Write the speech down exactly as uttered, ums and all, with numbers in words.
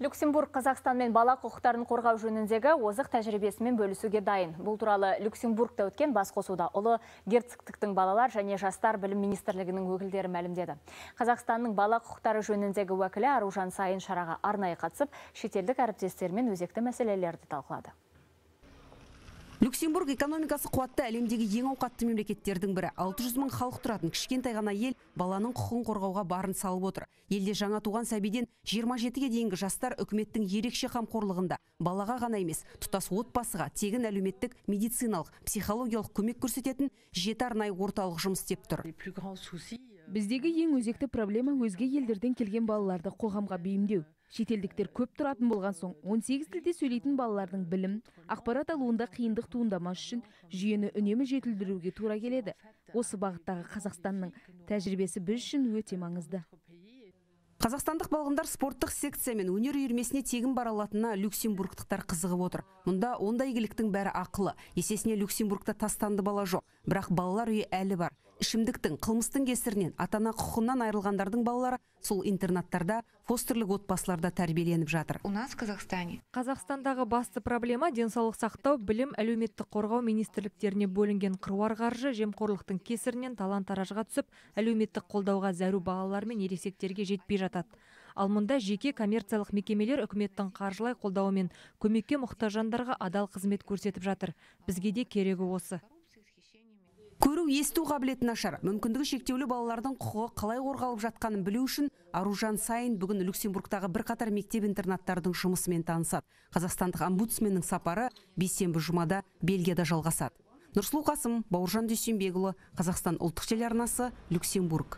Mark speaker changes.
Speaker 1: Люксембург Қазақстанмен бала құқықтарын қорғау жөніндегі озық тәжірибесімен бөлісуге дайын. Бұл туралы Люксембургта өткен басқосуда ұлы герцогтықтың балалар және жастар білім министрлігінің өкілдері мәлімдеді. Қазақстанның бала құқықтары жөніндегі уәкілі Аружан Сайын шараға арнайы қатысып, шетелдік әріптестермен өзекті мәселелерді талқылады.
Speaker 2: Люксембург экономикасы қуатты әлемдегі ең ауқатты мемлекеттердің бірі. алты жүз мың халық тұратын кішкентай ғана ел баланың құқығын қорғауға барын салып отыр. Елде жаңа туған сәбиден жиырма жетіге дейінгі жастар үкіметтің ерекше қамқорлығында балаға ғана емес, тұтас отбасыға тегін әлеуметтік, медициналық, психологиялық көмек көрсететін жеті арнайы орталық жұмыс істеп тұр.
Speaker 3: Біздегі ең өзекті проблема өзге елдерден келген балаларды қоғамға бейімдеу. Шетелдіктер көп тұратын болған соң, он сегіз тілде сөйлейтін балалардың білім, ақпарат алуында қиындық туындамас үшін жүйені үнемі жетілдіруге тура келеді. Осы бағыттағы Қазақстанның тәжірибесі біз үшін өте маңызды.
Speaker 2: Қазақстандық балғындар спорттық секция мен өнер үйірмесіне тегін бара алатынына люксембургтықтар қызығып отыр. Мұнда ондай игіліктің бәрі ақылы. Есесіне Люксембургта тастанды бала жоқ, бірақ балалар үйі әлі бар. Ішімдіктің, қылмыстың кесірінен ата-ана құқығынан айырылғандардың балалары сол интернаттарда, фостерлік отбасыларда тәрбиеленіп жатыр.
Speaker 4: У нас в Казахстане.
Speaker 5: Қазақстандағы басты проблема денсаулық сақтау, білім, әлеуметтік қорғау министрліктеріне бөлінген қыруар қаржы жемқорлықтың кесірінен талан-таражға түсіп, әлеуметтік қолдауға зәру балалар мен ересектерге жетпей жатады. Ал мұнда жеке коммерциялық мекемелер үкіметтің қаржылай қолдауымен көмекке мұқтаж жандарға адал қызмет көрсетіп жатыр. Бізге де керегі осы.
Speaker 2: Көру, есту қабілеті нашар. Мүмкіндігі шектеулі балалардың құқығы қалай қорғалып жатқанын білу үшін Аружан Сайын бүгін Люксембургтағы бірқатар мектеп-интернаттардың жұмысымен танысады. Қазақстандық омбудсменнің сапары бейсенбі жұмада Бельгияда жалғасады. Нұрсұлу Қасым, Бауыржан Дүйсенбекұлы, Қазақстан ұлттық телеарнасы, Люксембург.